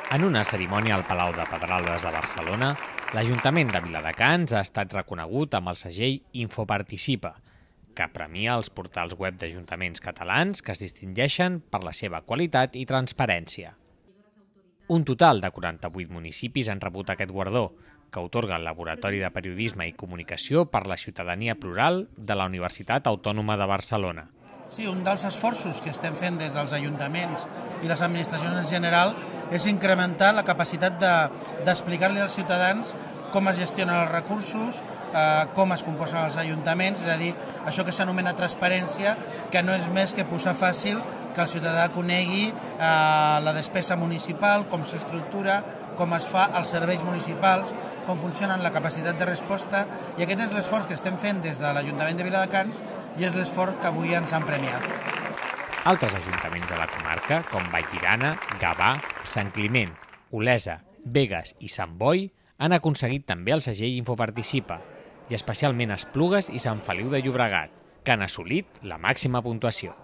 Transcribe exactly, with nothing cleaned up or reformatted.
En una cerimònia al Palau de Pedralbes de Barcelona, l'Ajuntament de Viladecans ha estat reconegut amb el segell Infoparticipa, que premia els portals web d'ajuntaments catalans que es distingeixen per la seva qualitat i transparència. Un total de quaranta-vuit municipis han rebut aquest guardó, que atorga el Laboratori de Periodisme i Comunicació per la Ciutadania Plural de la Universitat Autònoma de Barcelona. Sí, un dels esforços que estem fent des dels ajuntaments i les administracions en general és incrementar la capacitat d'explicar-li als ciutadans com es gestionen els recursos, eh, com es composen els ajuntaments, és a dir, això que s'anomena transparència, que no és més que posar fàcil que el ciutadà conegui eh, la despesa municipal, com s'estructura, com es fa els serveis municipals, com funcionen la capacitat de resposta, i aquest és l'esforç que estem fent des de l'Ajuntament de Viladecans i és l'esforç que avui ens han premiat. Altres ajuntaments de la comarca, com Vallirana, Gavà, Sant Climent, Olesa, Begues i Sant Boi, han aconseguit també el segell Infoparticipa, i especialment Esplugues i Sant Feliu de Llobregat, que han assolit la màxima puntuació.